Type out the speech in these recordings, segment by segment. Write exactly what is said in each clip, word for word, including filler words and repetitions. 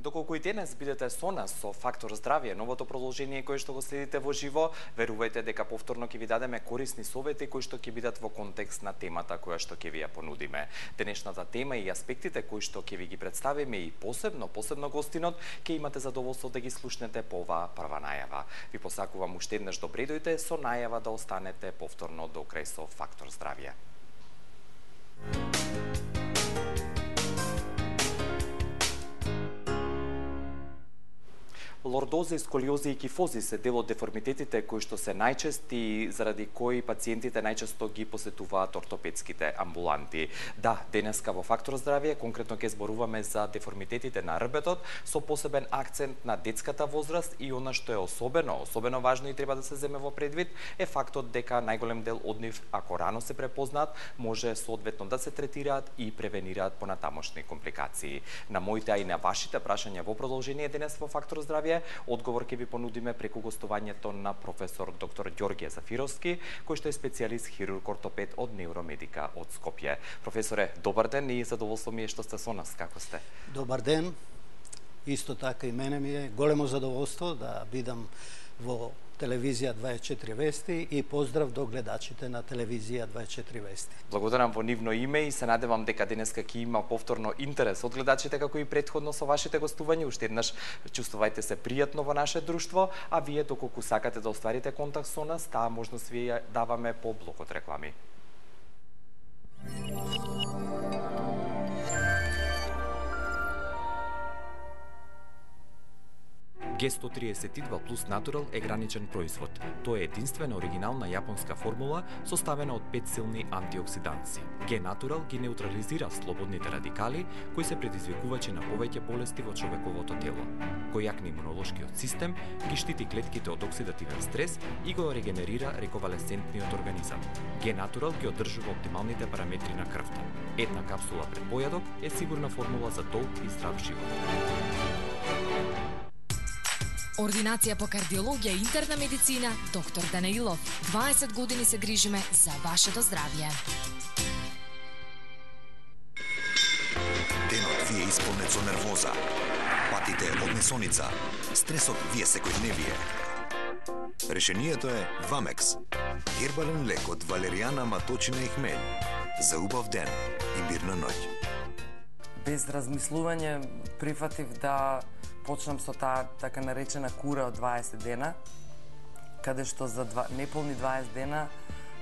Доколку и денес бидете со нас со Фактор здравје, новото продолжение кое што го следите во живо, верувајте дека повторно ќе ви дадеме корисни совети кои што ќе бидат во контекст на темата која што ќе ви ја понудиме. Денешната тема и аспектите кои што ќе ви ги представиме и посебно, посебно гостинот, ќе имате задоволство да ги слушнете по оваа прва најава. Ви посакувам уште еднаш добре дојдете со најава да останете повторно до крај со Фактор здравје. Лордоза, сколиоза и кифози се дел од деформитетите кои што се најчести, заради кои пациентите најчесто ги посетуваат ортопедските амбуланти. Да, денеска во Фактор здравје конкретно ќе зборуваме за деформитетите на рбетот со посебен акцент на детската возраст и она што е особено, особено важно и треба да се земе во предвид е фактот дека најголем дел од нив, ако рано се препознаат, може соодветно да се третираат и превенираат понатамошни компликации. На моите а и на вашите прашања во продолжение денес во Фактор здравје одговор ќе ви понудиме преку гостувањето на професор доктор Ѓорѓе Зафировски, кој што е специјалист хирург ортопед од Невромедика од Скопје. Професоре, добар ден и задоволство ми е што сте со нас. Како сте? Добар ден. Исто така и мене ми е големо задоволство да бидам во телевизија дваесет и четири вести и поздрав до гледачите на телевизија дваесет и четири вести. Благодарам во нивно име и се надевам дека денеска ќе има повторно интерес од гледачите како и претходно со вашите гостувања. Уште еднаш чувствувајте се пријатно во наше друштво, а вие доколку сакате да остварите контакт со нас, таа можност ви ја даваме по блокот реклами. Г сто триесет и два плюс Natural е граничен производ. Тоа е единствена оригинална јапонска формула составена од пет силни антиоксиданци. Г Natural ги неутрализира слободните радикали кои се предизвикувачи на повеќе болести во човековото тело. Кој јакне имунолошкиот систем, ги штити клетките од оксидативен стрес и го регенерира рековалесцентниот организам. Г Natural ги одржува оптималните параметри на крвта. Една капсула пред појадок е сигурна формула за долг и здрав живот. Ординација по кардиологија и интерна медицина, доктор Данаилов. дваесет години се грижиме за вашето здравје. Денот ви е исполнет со нервоза, патите од несоница, стресот ви е секојдневие. Решението е Вамекс, хербален лек од валеријана, маточина и хмелј, за убав ден и мирна ноќ. Без размислување прифатив да почнам со таа така наречена кура од дваесет дена, каде што за два, неполни дваесет дена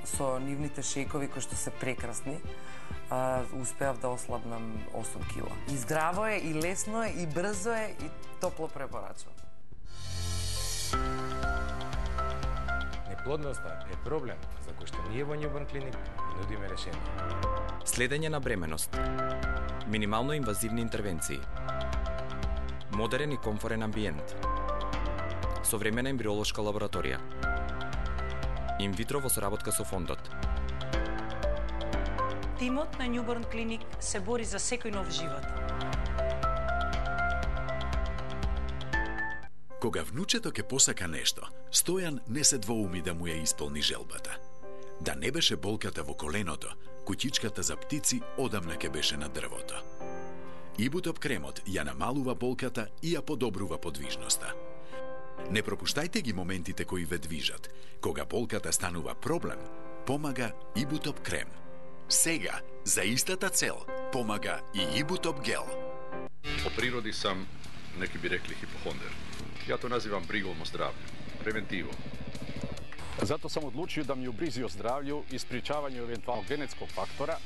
со нивните шекови кои што се прекрасни, а, успеав да ослабнам осум кила. И здраво е, и лесно е, и брзо е, и топло препорачувам. Неплодноста е проблем за кој што ние во Newborn Clinic нудиме решение. Следење на бременост. Минимално инвазивни интервенции. Модерен и комфорен амбиент. Современа ембриолошка лабораторија. Инвитро во соработка со фондот. Тимот на Newborn Clinic се бори за секој нов живот. Кога внучето ќе посака нешто, Стојан не се двоуми да му ја исполни желбата. Да не беше болката во коленото, куќичката за птици одамна ќе беше на дрвото. Ибутоп кремот ја намалува болката и ја подобрува подвижноста. Не пропуштајте ги моментите кои ве движат. Кога болката станува проблем, помага Ибутоп крем. Сега, за истата цел, помага и Ибутоп гел. По природи сам, неки би рекли хипохондер. Ја то називам бригом о здравју, превентиво. Зато сам одлучил да ми убризи о здравју и спречавању евентуално генетскog фактора,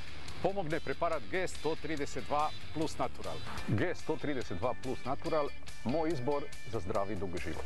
помогне препарат Г сто тридесет два плюс Natural. Г сто тридесет два плюс Natural, мој избор за здрав и дуг живот.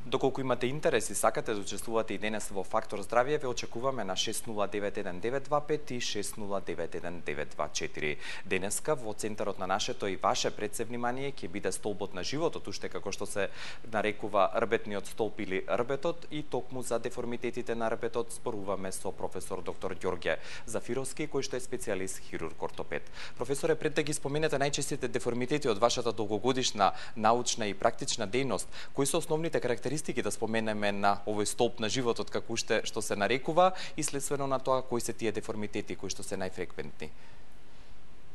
Доколку имате интерес и сакате да учествувате и денес во Фактор здравје, ве очекуваме на шест нула девет еден девет два пет и шест нула девет еден девет два четири. Денеска во центарот на нашето и ваше предсе внимание ќе биде столбот на животот, уште како што се нарекува рбетниот столб или рбетот, и токму за деформитетите на рбетот зборуваме со професор доктор Ѓорѓе Зафировски, кој што е специјалист хирург ортопед. Професоре, пред да ги споменете најчестите деформитети од вашата долгогодишна научна и практична дејност, кои се основните карактеристики да споменеме на овој столб на животот, како уште што се нарекува, и следствено на тоа кои се тие деформитети кои што се најфреквентни?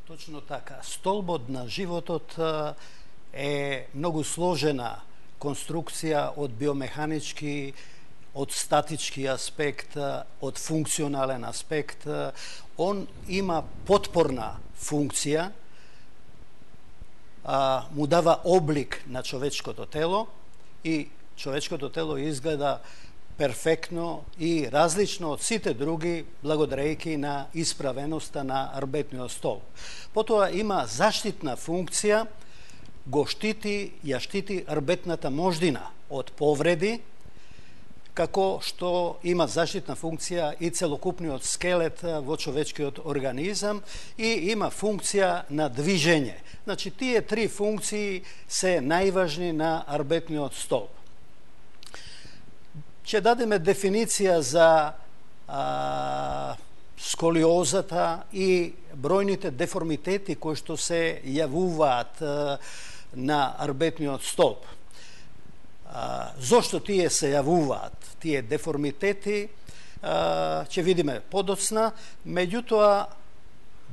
Точно така. Столбот на животот е многу сложена конструкција од биомеханички, од статички аспект, од функционален аспект. Он има потпорна функција, му дава облик на човечкото тело и човечкото тело изгледа перфектно и различно од сите други благодарејќи на исправеноста на рбетниот столб. Потоа има заштитна функција, го штити, ја штити рбетната мождина од повреди, како што има заштитна функција и целокупниот скелет во човечкиот организам и има функција на движење. Значи, тие три функции се најважни на рбетниот столб. Ќе дадеме дефиниција за а, сколиозата и бројните деформитети кои што се јавуваат а, на рбетниот столб. А, зошто тие се јавуваат, тие деформитети, а, ќе видиме подоцна, меѓутоа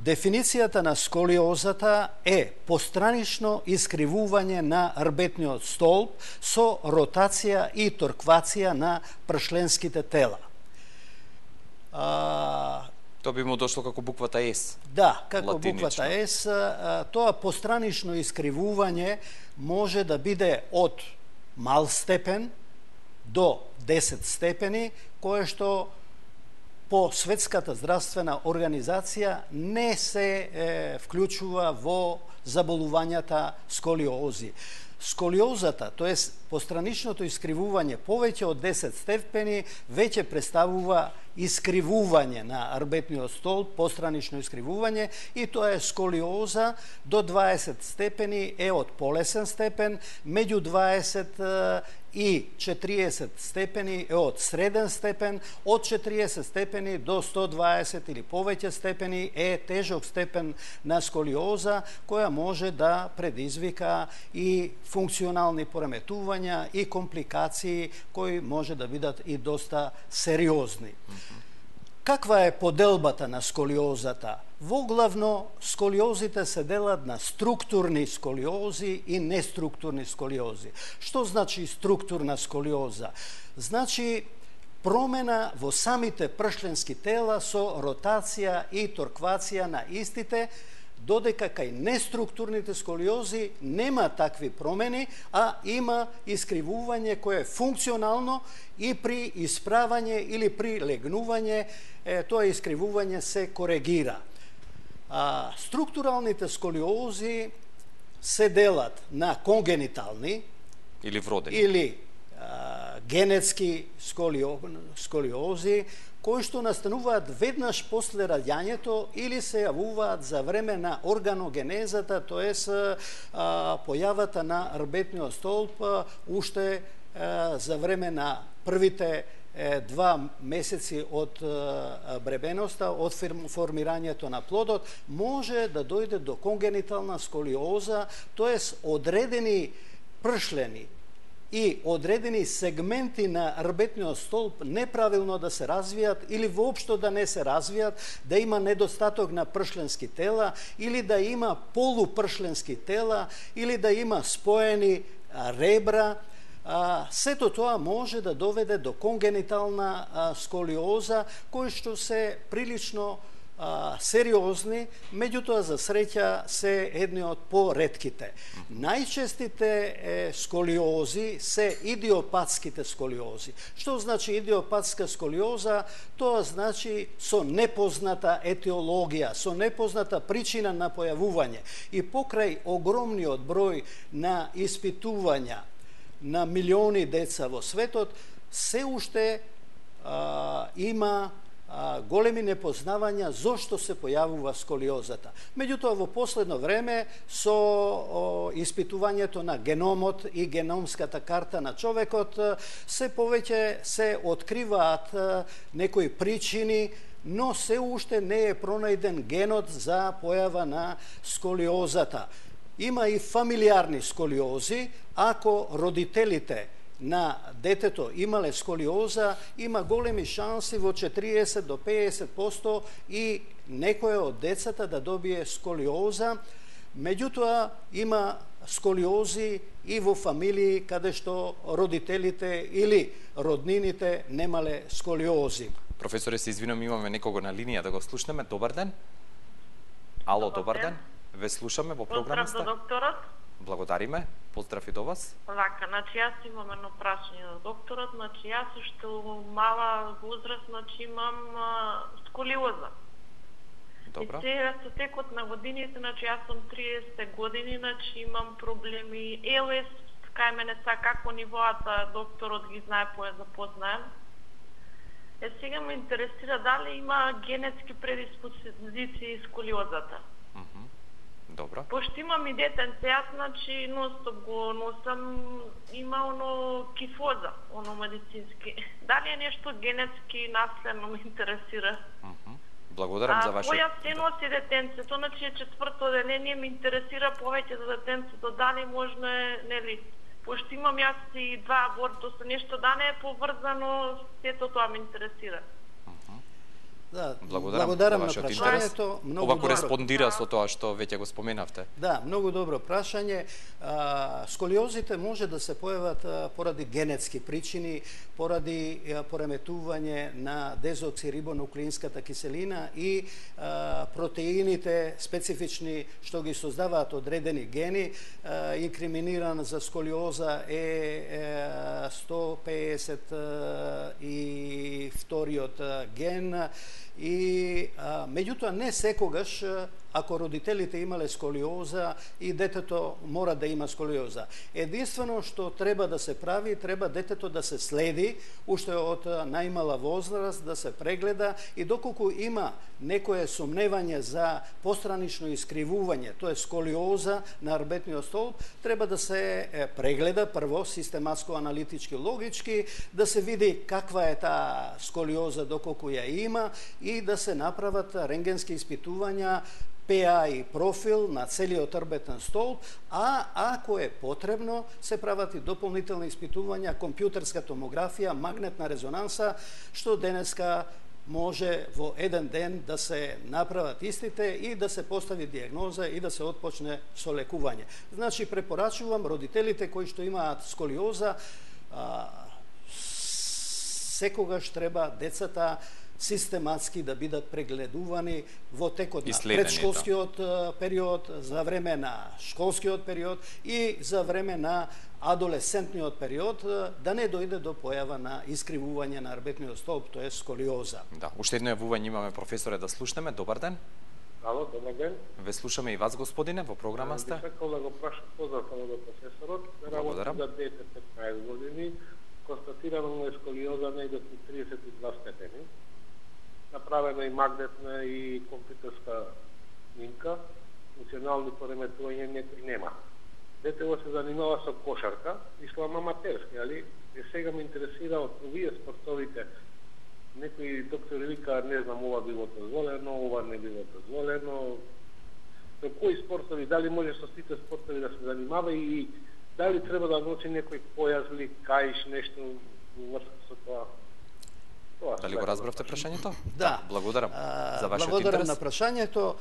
дефиницијата на сколиозата е постранично искривување на рбетниот столб со ротација и торквација на пршленските тела. А, Тоа би му дошло како буквата С. Да, како буквата С. Тоа постранично искривување може да биде од мал степен до десет степени, кое што по Светската здравствена организација не се е, вклучува во заболувањата сколиози. Сколиозата, тоест постраничното искривување повеќе од десет степени, веќе представува искривување на рбетниот столб, постранично искривување, и тоа е сколиоза до дваесет степени е од полесен степен, меѓу дваесет и четириесет степени е од среден степен, од четириесет степени до сто дваесет или повеќе степени е тежок степен на сколиоза, која може да предизвика и функционални пореметувања и компликации кои може да бидат и доста сериозни. Каква е поделбата на сколиозата? Воглавно, сколиозите се делат на структурни сколиози и неструктурни сколиози. Што значи структурна сколиоза? Значи промена во самите пршленски тела со ротација и торквација на истите, додека кај неструктурните сколиози нема такви промени, а има искривување кое е функционално и при исправање или при легнување е, тоа искривување се коригира. А, структуралните сколиози се делат на конгенитални или вродени или а, генетски сколио, сколиози, кои што настануваат веднаш после раѓањето или се јавуваат за време на органогенезата, тоест појавата на рбетниот столб уште а, за време на првите е, два месеци од е, бребеноста, од формирањето на плодот, може да дојде до конгенитална сколиоза, тоест одредени пршлени и одредени сегменти на рбетниот столб неправилно да се развијат или воопшто да не се развијат, да има недостаток на пршленски тела или да има полупршленски тела или да има споени ребра. А, сето тоа може да доведе до конгенитална а, сколиоза, кои што се прилично а, сериозни, меѓутоа за среќа се едни од поредките. Најчестите е, сколиози се идиопатските сколиози. Што значи идиопатска сколиоза? Тоа значи со непозната етиологија, со непозната причина на појавување. И покрај огромниот број на испитувања, на милиони деца во светот, се уште а, има а, големи непознавања зошто се појавува сколиозата. Меѓутоа, во последно време, со о, испитувањето на геномот и геномската карта на човекот, се повеќе се откриваат а, некои причини, но се уште не е пронајден генот за појава на сколиозата. Има и фамилиарни сколиози. Ако родителите на детето имале сколиоза, има големи шанси во четириесет до педесет проценти и некој од децата да добие сколиоза. Меѓутоа, има сколиози и во фамилии каде што родителите или роднините немале сколиози. Професоре, се извинувам, имаме некого на линија да го слушнеме. Добар ден. Ало, добар ден. Ве слушаме во програма. Поздрав до докторот. Благодариме. Поздрав и до вас. Вака, значи јас имам едно прашање до докторот. Значи јас уште у мала возраст, значи имам а, сколиоза. Добро. И сега со текот на годините, значи јас сум триесет години, значи имам проблеми Ел Ес, кај мене са како нивоата, докторот ги знае, поја запознаем. Е, сега ме интересира дали има генетски предиспозиции сколиозата. Mm-hmm. Добро. Пошто имам и детенце, јас, значи, нон-стоп го носам, има оно кифоза, оно медицински. Дали е нешто генетски наследно ме интересира? Mm-hmm. Благодарам за вашето... А која се носи детенцето, значи е четврто деление, ме интересира повеќе за детенцето, дали можно е, нели, пошто имам јас и два абортуса, нешто да не е поврзано, сето тоа ме интересира. Да, благодарам, благодарам на прашањето. Ова кореспондира со тоа што веќе го споменавте. Да, многу добро прашање. А, сколиозите може да се појават а, поради генетски причини, поради а, пореметување на дезоксирибонуклеинската киселина и а, протеините специфични што ги создаваат одредени гени. А, инкриминиран за сколиоза е, е сто педесет и вториот ген. И а, меѓутоа не секогаш, ако родителите имале сколиоза, и детето мора да има сколиоза. Единствено што треба да се прави, треба детето да се следи уште од најмала возраст, да се прегледа, и доколку има некое сомневање за постранично искривување, тоа е сколиоза на арбетниот столб, треба да се прегледа прво систематско, аналитички, логички, да се види каква е таа сколиоза доколку ја има и да се направат рентгенски испитувања, П А и профил на целиот арбетен столб, а ако е потребно, се прават и дополнителни испитувања, компјутерска томографија, магнетна резонанса, што денеска може во еден ден да се направат истите и да се постави диагноза и да се отпочне со лекување. Значи, препорачувам родителите кои што имаат сколиоза, а, секогаш треба децата систематски да бидат прегледувани во текот на предшколскиот период, за време на школскиот период и за време на адолесцентниот период, да не дојде до појава на искривување на арбетниот столб, тоа е сколиоза. Да, уште едно јавување имаме, професоре, да слушнеме. Добар ден. Ало, добар ден. Ве слушаме и вас, господине, во програма сте. Би сакал да го прашам, поздрав само до професорот. Благодарам. За дете петнаесет години, констатирано му е сколиоза негде до триесет и два степени. Направена и магнетна и компјутерска снимка, функционални пореметувања некои нема. Детево се занимава со кошарка и со аматерски, али и сега ме интересира од овие спортовите. Некои доктори вика, не знам, ова било дозволено, ова не било дозволено. Со кои спортови, дали може со сите спортови да се занимава и дали треба да носи некој појас или каиш, нешто во врска со тоа? Дали го разбравте прашањето? Да. Благодарам за вашиот Благодарам интерес. на прашањето.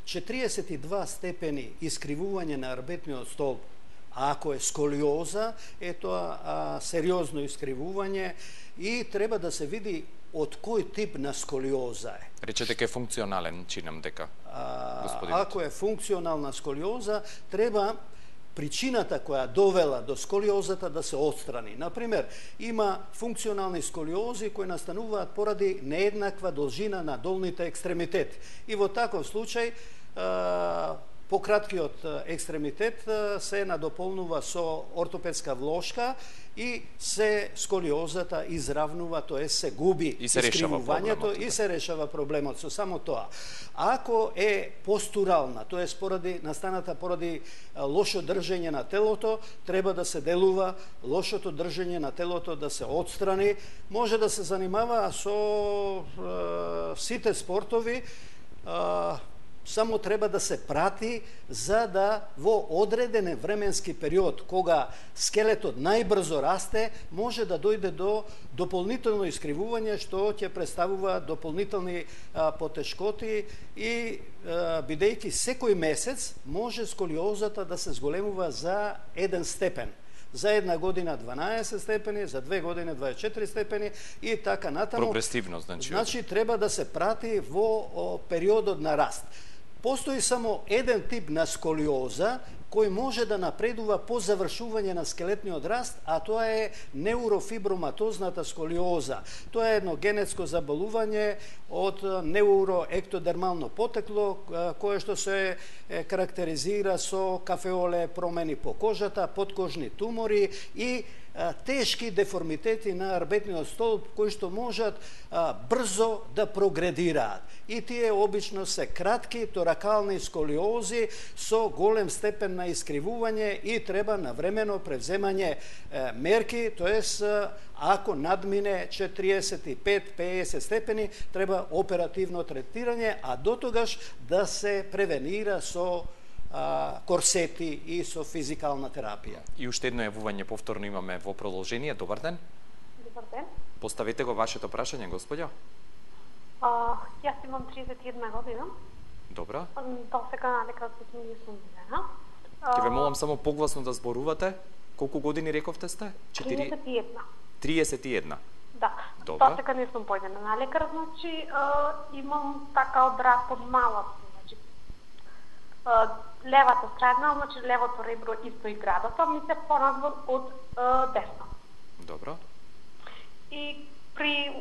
четириесет и два степени искривување на арбетниот столб, а ако е сколиоза, е тоа а, сериозно искривување и треба да се види од кој тип на сколиоза е. Речете ке функционален, чинам дека. А, ако е функционална сколиоза, треба причината која довела до сколиозата да се отстрани. Например, има функционални сколиози кои настануваат поради нееднаква должина на долните екстремитети. И во таков случај, пократкиот екстремитет се надополнува со ортопедска влошка и се сколиозата изравнува, тоа се губи и се искривувањето и се решава проблемот со само тоа. Ако е постурална, тоа е поради настаната поради лошо држење на телото, треба да се делува, лошото држење на телото да се отстрани, може да се занимава со е, сите спортови, е, само треба да се прати за да во одреден временски период, кога скелетот најбрзо расте, може да дојде до дополнително искривување, што ќе представува дополнителни а, потешкоти и а, бидејќи секој месец може сколиозата да се зголемува за еден степен. За една година дванаесет степени, за две години дваесет и четири степени и така натаму. Прогресивно, значи. Значи треба да се прати во о, периодот на раст. Постои само еден тип на сколиоза кој може да напредува по завршување на скелетниот раст, а тоа е неурофиброматозната сколиоза. Тоа е едно генетско заболување од неуроектодермално потекло, кое што се карактеризира со кафеоле, промени по кожата, подкожни тумори и тешки деформитети на арбетниот столб кои што можат а, брзо да прогредираат. И тие обично се кратки торакални сколиози со голем степен на искривување и треба навремено превземање е, мерки, тоест ако надмине четириесет и пет до педесет степени, треба оперативно третирање, а дотогаш да се превенира со корсети и со физикална терапија. И уште едно јавување повторно имаме во продолжение. Добар ден. Добар ден. Поставете го вашето прашање, господја. А, јас имам триесет и една година. Добра. До сега дека не сум видена. Ќе ве молам само погласно да зборувате. Колку години рековте сте? триесет и една. триесет и една. Да. Добра. До сега не сум појдена на лекар, значи а, имам така од рак од малат. Значи, а, левата страна, значи левото ребро исто и градата, ми се понадвор од а, десно. Добро. И при,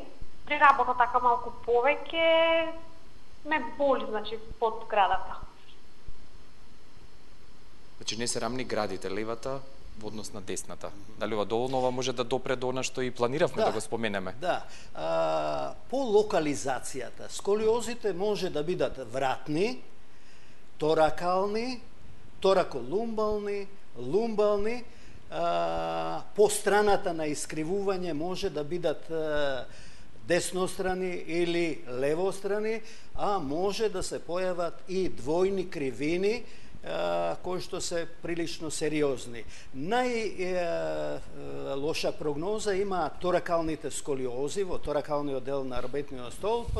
при работа така малку повеќе ме боли, значи, под градата. Значи не се рамни градите, левата во однос на десната. Дали ова доволно ова може да допре до она што и планиравме да, да го споменеме? Да. А, по локализацијата, сколиозите може да бидат вратни, торакални, тораколумбални, лумбални, а, по страната на искривување може да бидат а, деснострани или левострани, а може да се појават и двојни кривини, кои што се прилично сериозни. Најлоша прогноза има торакалните сколиози во торакалниот дел на арбетниот столб,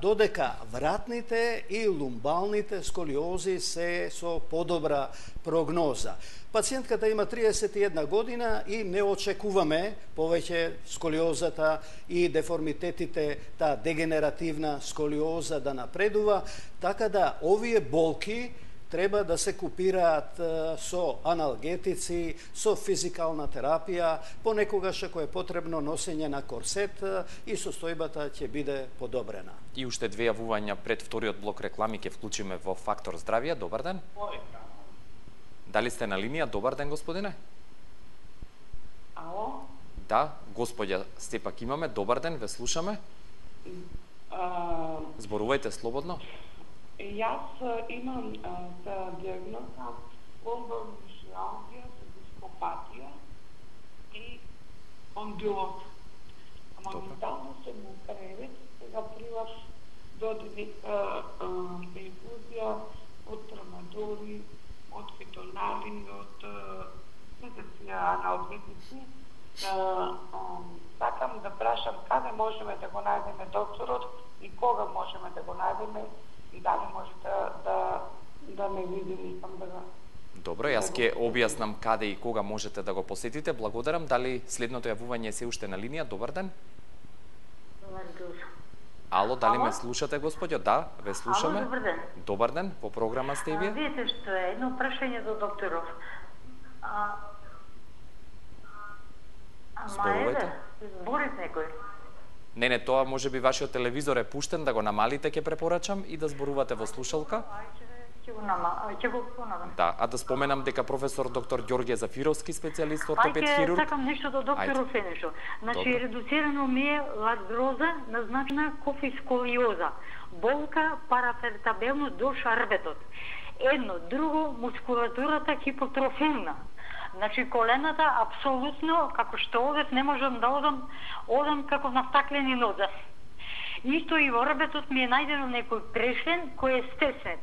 додека вратните и лумбалните сколиози се со подобра прогноза. Пациентката има триесет и една година и не очекуваме повеќе сколиозата и деформитетите, таа дегенеративна сколиоза да напредува, така да овие болки треба да се купираат со аналгетици, со физикална терапија, понекогаш ако е потребно носење на корсет и состојбата ќе биде подобрена. И уште две јавувања пред вториот блок реклами ќе вклучиме во Фактор здравје. Добар ден. Дали сте на линија? Добар ден, господине. Ало? Да, господја Степак имаме. Добар ден, ве слушаме. А... Зборувајте слободно. Јас имам за диагноза ломбалмишиалгија со дископатија и ондилоз. Моментално сум у кревет, сега приваш додени инфузија од трамадори, од фитоналин, од синтеција аналгетици. Сакам да прашам каде можеме да го најдеме докторот и кога можеме да го најдеме и дали може да, да, да ме види, искам да го... Добро, јас ќе објаснам каде и кога можете да го посетите. Благодарам. Дали следното јавување се уште на линија? Добар ден. Добар ден. Ало, дали ме слушате, господјо? Да, ве слушаме. Ало, добар ден. Добар ден, во програма сте и вие. Видите што е, едно прашање за докторов. А... Зборувајте. Зборите некој. Не, не, тоа може би вашиот телевизор е пуштен, да го намалите, ќе препорачам, и да зборувате во слушалка. Ќе го нама, ќе го понадам. Да, а да споменам дека професор доктор Ѓорѓе Зафировски, специјалист ортопед Ајде, хирург. сакам нешто до докторов е нешто. Значи, Добре. редуцирано ми е лардроза, назначена кофисколиоза, болка парафертабелно до шарбетот. Едно, друго, мускулатурата хипотрофилна. Значи, колената, апсолутно, како што одев, не можам да одам, одам како на стаклени нозе. Исто и во рбетот ми е најдено некој прешлен кој е стеснет.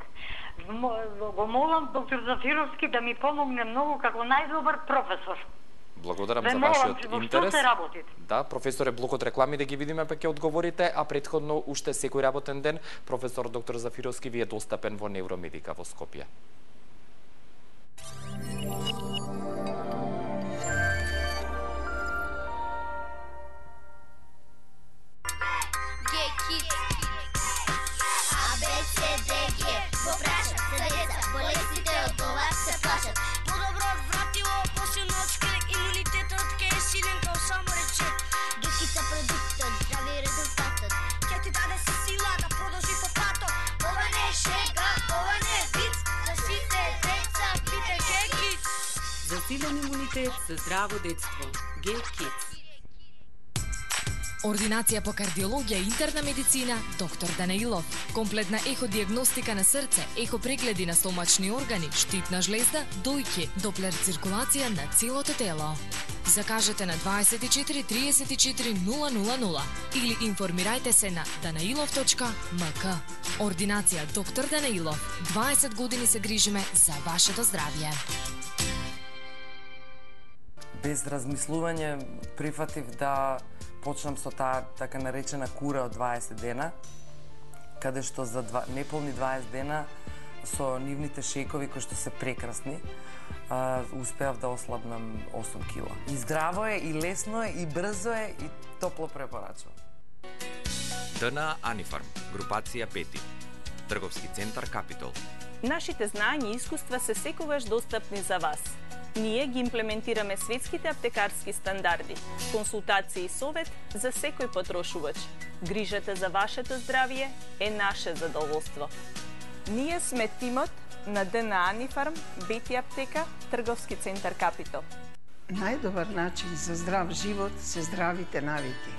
Го молам доктор Зафировски да ми помогне многу како најдобар професор. Благодарам Ве за молам, вашиот во интерес. што се работите? Да, професоре, блок од реклами да ги видиме, па ќе одговорите, а претходно уште секој работен ден професор доктор Зафировски ви е достапен во Невромедика во Скопје. Засилен имунитет за здраво детство. Г-Kids. Ординација по кардиологија и интерна медицина, доктор Данаилов. Комплетна еходиагностика на срце, ехопрегледи на стомачни органи, штитна жлезда, дојки, доплер циркулација на целото тело. Закажете на дваесет и четири триесет и четири нула нула нула или информирајте се на данаилов точка ем ка. Ординација доктор Данаилов. дваесет години се грижиме за вашето здравје. Без размислување прифатив да почнам со таа така наречена кура од дваесет дена, каде што за два, неполни дваесет дена со нивните шекови кои што се прекрасни, а, успеав да ослабнам осум кила. И здраво е, и лесно е, и брзо е, и топло препорачувам. ДНА Анифарм, групација пети, трговски центар Капитол. Нашите знања и искуства се секогаш достапни за вас. Ние ги имплементираме светските аптекарски стандарди, консултација и совет за секој потрошувач. Грижата за вашето здравје е наше задоволство. Ние сме тимот на ДНА Анифарм, Бети аптека, трговски центар Капитол. Најдобар начин за здрав живот се здравите навики.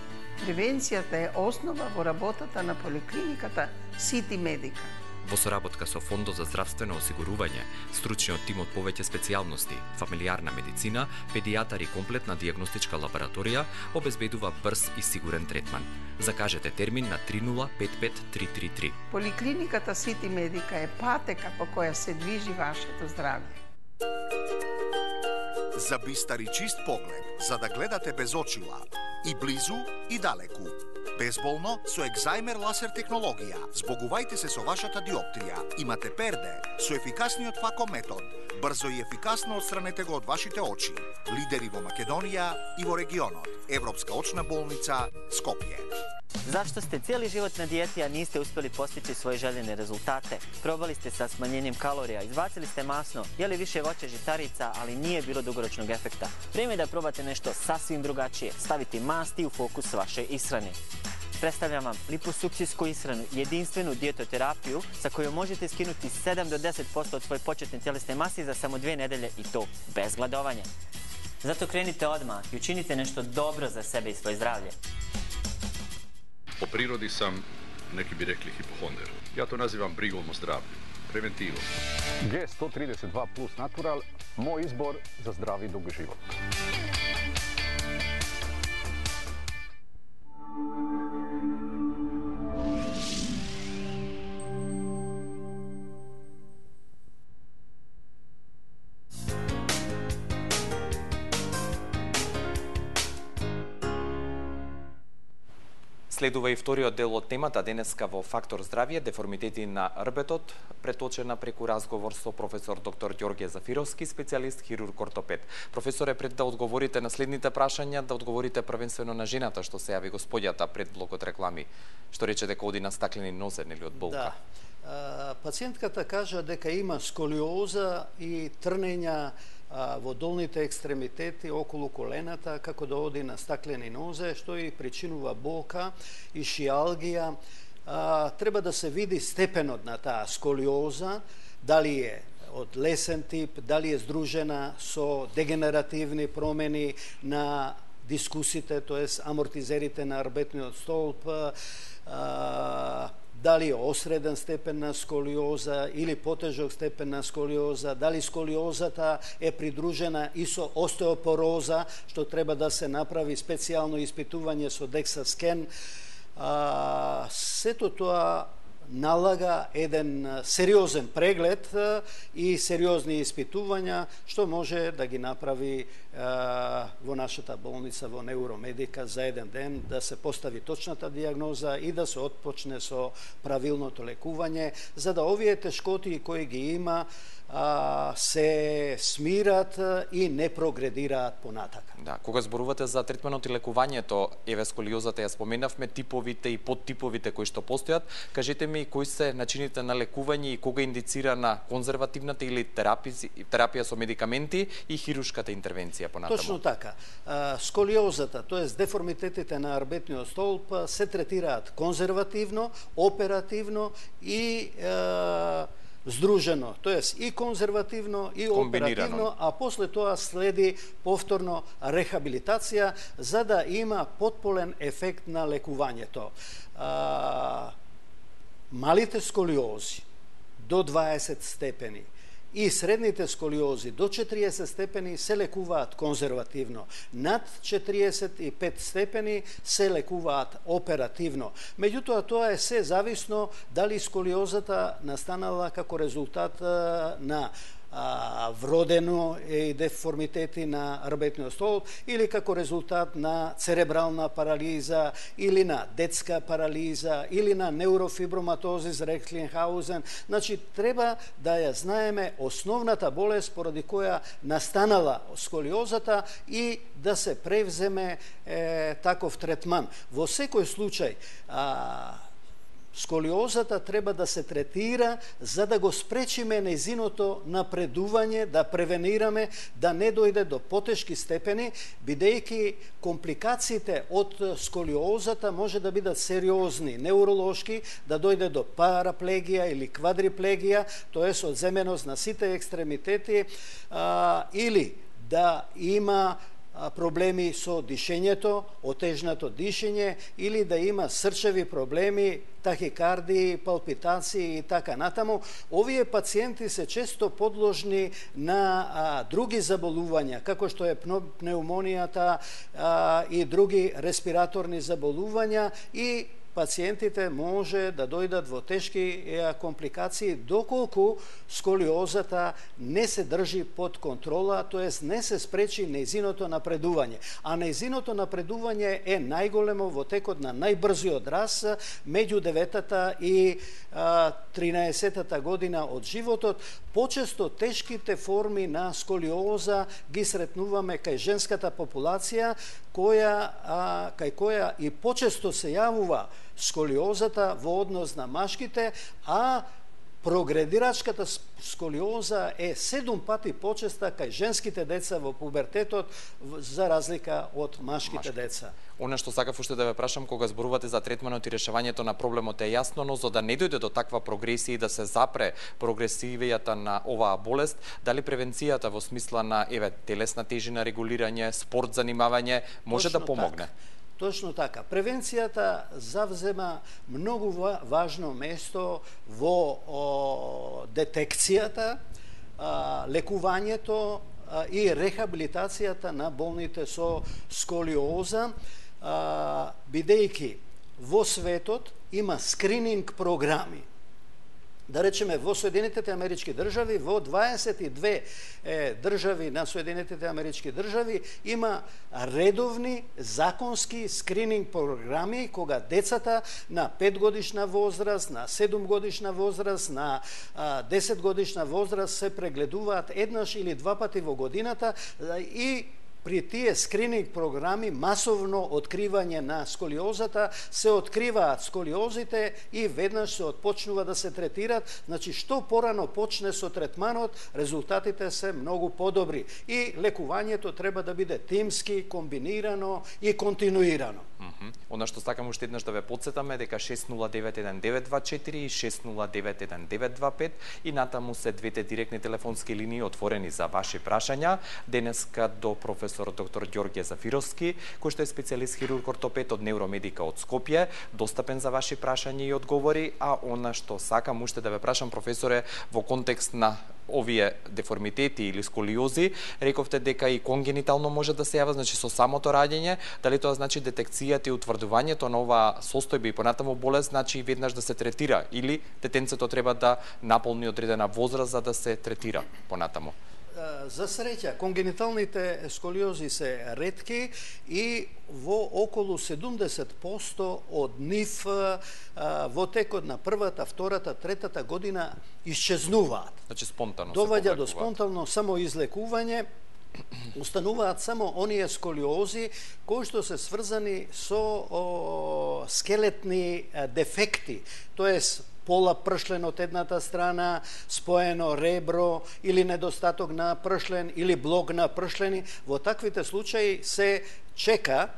Превенцијата е основа во работата на поликлиниката Сити Медика. Во соработка со Фондот за здравствено осигурување, стручниот тим од повеќе специјалности, фамилиарна медицина, педијатар и комплетна дијагностичка лабораторија обезбедува брз и сигурен третман. Закажете термин на три нула пет пет три три три. Поликлиниката Сити Медика е патека по која се движи вашето здравје. За бистар и чист поглед, за да гледате без очила, и близу и далеку. Безболно со екзајмер ласер технологија. Збогувајте се со вашата диоптрија. Имате перде со ефикасниот фако метод. Брзо и ефикасно отстранете го од вашите очи. Лидери во Македонија и во регионот. Европска очна болница Скопје. Зашто сте цели живот на диети, а нисте успели постичи своји желени резултате? Пробали сте sa smanjenjem kalorija, izbacili ste masno, jeli više voća žitarica, ali nije bilo dugoročnog efekta. Vrijeme je da probate nešto sasvim drugačije, staviti masti u fokus vaše ishrane. Predstavljam vam liposukcijsku ishranu, jedinstvenu dijetoterapiju sa kojom možete skinuti sedam do deset posto od svoje početne tjelesne mase za samo dve nedelje i to bez gladovanja. Zato krenite odmah i učinite nešto dobro za sebe i svoje zdravlje. Po prirodi sam, neki bi rekli, hipohonder. Ja to nazivam brigom o zdravlju, preventivom. G sto trideset dva plus Natural, moj izbor za zdravi dug život. Следува и вториот дел од темата денеска во Фактор здравје, деформитети на рбетот, преточена преку разговор со професор доктор Ѓорѓе Зафировски, специјалист хирург ортопед. Професоре, пред да одговорите на следните прашања, да одговорите првенствено на жената што се јави господјата пред блокот реклами, што рече дека оди на стаклени нозе, нели, од болка. Да. Пациентката кажа дека има сколиоза и трнења во долните екстремитети околу колената, како да оди на стаклени нозе, што и причинува болка и шиалгија. Треба да се види степенот на таа сколиоза, дали е од лесен тип, дали е здружена со дегенеративни промени на дискусите, тоест амортизерите на арбетниот столб, а, дали е осреден степен на сколиоза или потежок степен на сколиоза, дали сколиозата е придружена и со остеопороза, што треба да се направи специјално испитување со декса скен. А, сето тоа налага еден сериозен преглед и сериозни испитувања, што може да ги направи е, во нашата болница, во Невромедика, за еден ден, да се постави точната диагноза и да се отпочне со правилното лекување, за да овие тешкоти кои ги има а, се смират и не прогредираат понатака. Да, кога зборувате за третманот и лекувањето, еве сколиозата ја споменавме, типовите и подтиповите кои што постојат, кажете ми кои се начините на лекување и кога индицирана конзервативната или терапија, терапија со медикаменти и хирушката интервенција понатаму? Точно така. Сколиозата, тоест деформитетите на арбетниот столб, се третираат конзервативно, оперативно и е, здружено, тоест и конзервативно и оперативно, а после тоа следи повторно рехабилитација за да има потполен ефект на лекувањето. А, малите сколиози до дваесет степени и средните сколиози до четириесет степени се лекуваат конзервативно. Над четириесет и пет степени се лекуваат оперативно. Меѓутоа, тоа е се зависно дали сколиозата настанала како резултат на а, вродено и деформитети на арбетниот столб или како резултат на церебрална парализа или на детска парализа или на неурофиброматозис Рехтлинхаузен. Значи, треба да ја знаеме основната болест поради која настанала сколиозата и да се превземе е, таков третман. Во секој случај, а, сколиозата треба да се третира за да го спречиме нејзиното напредување, да превенираме да не дојде до потешки степени, бидејќи компликациите од сколиозата може да бидат сериозни, неуролошки, да дојде до параплегија или квадриплегија, тоест одземеност на сите екстремитети, а, или да има проблеми со дишењето, отежнато дишење или да има срчеви проблеми, тахикардии, палпитации и така натаму. Овие пациенти се често подложни на а, други заболувања, како што е пнеумонијата а, и други респираторни заболувања и пациентите може да дојдат во тешки компликации доколку сколиозата не се држи под контрола, тоест не се спречи нејзиното напредување. А нејзиното напредување е најголемо во текот на најбрзиот раст меѓу деветата и тринаесеттата година од животот. Почесто тешките форми на сколиоза ги сретнуваме кај женската популација, која, а, кај која и почесто се јавува сколиозата во однос на машките, а прогредирачката сколиоза е седум пати почеста кај женските деца во пубертетот за разлика од машките Машки. деца. Она што сакав уште да ве прашам, кога зборувате за третманот и решавањето на проблемот е јасно, но за да не дојде до таква прогресија и да се запре прогресивијата на оваа болест, дали превенцијата во смисла на еве телесна тежина, регулирање, спорт, занимавање може Точно да помогне? Така. Точно така. Превенцијата завзема многу важно место во о, детекцијата, а, лекувањето а, и рехабилитацијата на болните со сколиоза, а, бидејќи во светот има скрининг програми. Да речеме, во Соединетите Амерички држави, во дваесет и две е, држави на Соединетите Амерички држави има редовни законски скрининг програми кога децата на пет годишна возраст, на седум годишна возраст, на а, десет годишна возраст се прегледуваат еднаш или два пати во годината и при тие скрининг програми масовно откривање на сколиозата се откриваат сколиозите и веднаш се отпочнува да се третират. Значи, што порано почне со третманот, резултатите се многу подобри и лекувањето треба да биде тимски, комбинирано и континуирано. Mm -hmm. Она што сакам уште еднаш да ве потсетаме дека шест нула девет еден девет два четири и шест нула девет еден девет два пет и натаму се двете директни телефонски линии отворени за ваши прашања. Денеска до професор доктор Ѓорѓе Зафировски, кој што е специјалист хирург ортопед од Невромедика од Скопје, достапен за ваши прашања и одговори, а она што сакам уште да ве прашам, професоре, во контекст на овие деформитети или сколиози, рековте дека и конгенитално може да се јава, значи со самото раѓање, дали тоа значи детекцијата и утврдувањето на оваа состојба и понатаму болест, значи веднаш да се третира, или детенцето треба да наполни одредена возраст за да се третира понатаму? За среќа, конгениталните сколиози се ретки и во околу седумдесет проценти од нив во текот на првата, втората, третата година исчезнуваат. Значи спонтано се доваѓа до спонтано самоизлекување, устануваат само оние сколиози кои што се сврзани со о, скелетни дефекти, тоест пола пршлен од едната страна, споено ребро или недостаток на пршлен или блок на пршлени. Во таквите случаи се чека,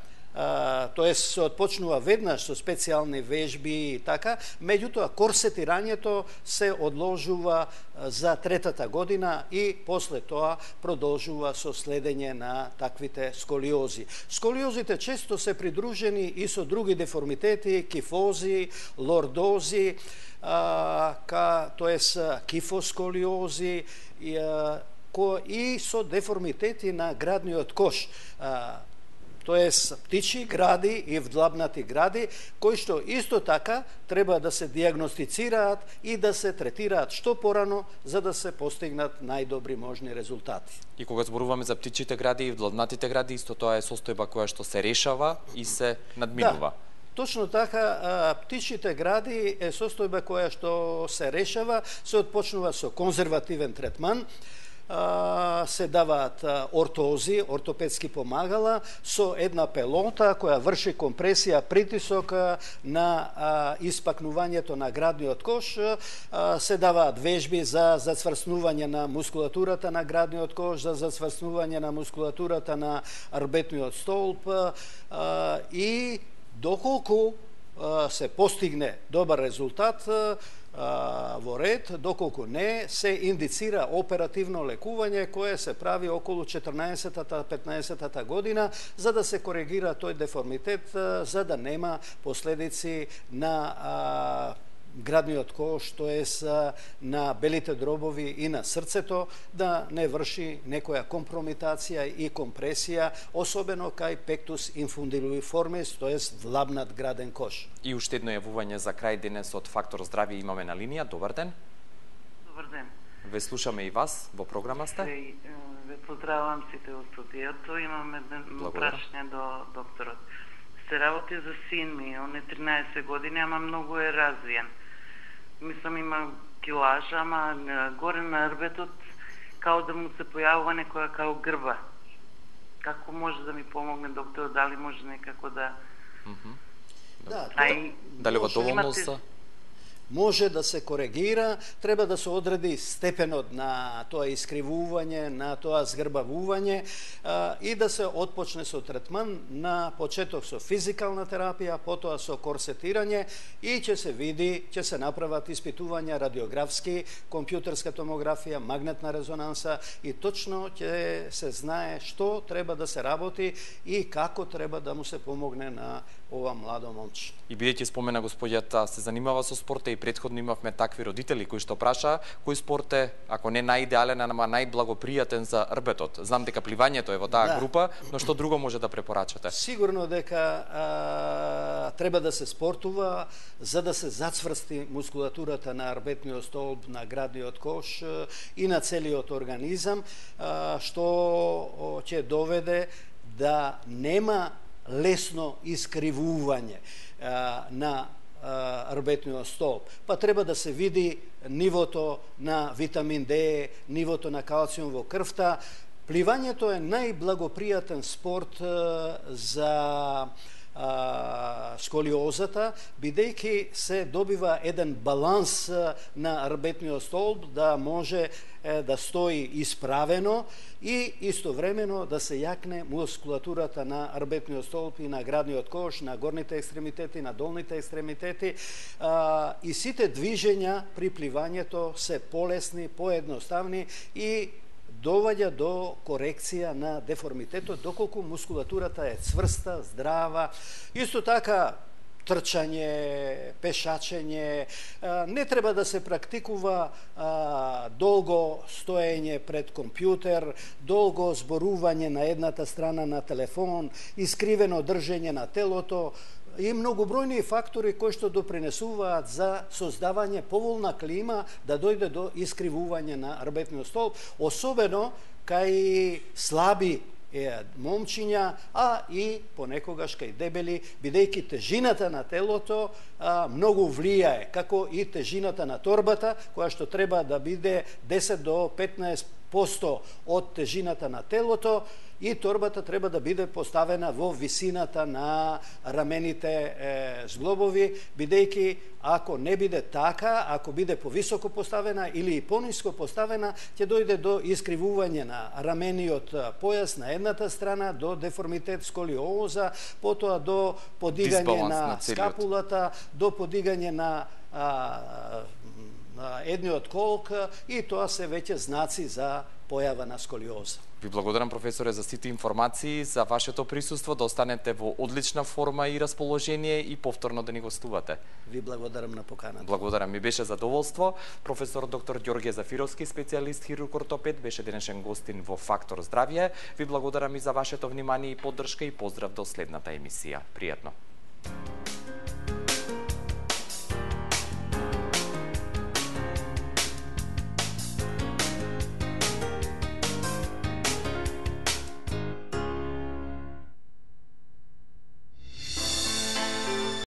тоест се отпочнува веднаш со специјални вежби и така, меѓутоа корсетирањето се одложува за третата година и после тоа продолжува со следење на таквите сколиози. Сколиозите често се придружени и со други деформитети, кифози, лордози, а, ка, тоест кифосколиози и, а, ко, и со деформитети на градниот кош. А, тоест птичи гради и вдлабнати гради, кои што исто така треба да се диагностицираат и да се третираат што порано, за да се постигнат најдобри можни резултати. И кога зборуваме за птичите гради и вдлабнатите гради, исто тоа е состојба која што се решава и се надминува. Да. Точно така, птичите гради е состојба која што се решава, се отпочнува со конзервативен третман, се даваат ортози, ортопедски помагала, со една пелота која врши компресија, притисок на испакнувањето на градниот кош, се даваат вежби за зацврснување на мускулатурата на градниот кош, за зацврснување на мускулатурата на арбетниот столб и доколку се постигне добар резултат во ред, доколку не, се индицира оперативно лекување кое се прави околу четрнаесеттата петнаесеттата година за да се коригира тој деформитет, за да нема последици на градниот кош, тоест на белите дробови и на срцето, да не врши некоја компромитација и компресија, особено кај пектус инфундибулиформис, тоест влабнат граден кош. И уште едно јавување за крај денес од Фактор здравје имаме на линија. Добар ден. Добар ден. Ве слушаме и вас, во програма сте. Ве, ве поздравувам сите во студиото. Имам едно прашање до докторот. Се работи за син ми, он е тринаесет години, ама многу е развиен. Мислам, има килажа, ама горе на рбетот, као да му се појавува некоја као грба. Како може да ми помогне доктор, дали може некако да... Mm -hmm. Да, Ај, дали во доволноста? Може да се коригира, треба да се одреди степенот на тоа искривување, на тоа згрбавување а, и да се отпочне со третман на почеток со физикална терапија, потоа со корсетирање и ќе се види, ќе се направат испитувања радиографски, компјутерска томографија, магнетна резонанса и точно ќе се знае што треба да се работи и како треба да му се помогне на ова младо момче. И бидејќи спомена господјата се занимава со спорта и претходно имавме такви родители кои што праша кој спорт е, ако не најидеален, ама најблагопријатен за рбетот. Знам дека пливањето е во таа да. група, но што друго може да препорачате? Сигурно дека а, треба да се спортува за да се зацврсти мускулатурата на арбетниот столб, на градниот кош и на целиот организам, а, што ќе доведе да нема лесно искривување а, на арбетниот столб. Па треба да се види нивото на витамин Д, нивото на калциум во крвта. Пливањето е најблагопријатен спорт а, за а, сколиозата, бидејќи се добива еден баланс а, на арбетниот столб да може да стои исправено и истовремено да се јакне мускулатурата на арбетниот столб и на градниот кош, на горните екстремитети, на долните екстремитети, и сите движења при пливањето се полесни, поедноставни и доваѓа до корекција на деформитетот, доколку мускулатурата е цврста, здрава. Исто така, трчање, пешачење, не треба да се практикува долго стоење пред компјутер, долго зборување на едната страна на телефон, искривено држење на телото и многобројни фактори кои што допринесуваат за создавање поволна клима да дојде до искривување на арбетниот столб, особено кај слаби е момчиња, а и понекогаш кај дебели, бидејќи тежината на телото а, многу влијае, како и тежината на торбата, која што треба да биде десет до петнаесет проценти од тежината на телото, и торбата треба да биде поставена во висината на рамените е, зглобови, бидејќи ако не биде така, ако биде повисоко поставена или пониско поставена, ќе дојде до искривување на рамениот појас на едната страна, до деформитет, сколиоза, потоа до подигање на, на скапулата, до подигање на а, едниот колк, и тоа се веќе знаци за појава на сколиоза. Ви благодарам, професоре, за сите информации, за вашето присуство, да останете во одлична форма и расположение и повторно да ни гостувате. Ви благодарам на поканата. Благодарам, ми беше задоволство. Професор доктор Ѓорѓе Зафировски, специјалист хирург ортопед, беше денешен гостин во Фактор здравје. Ви благодарам и за вашето внимание и поддршка и поздрав до следната емисија. Пријатно.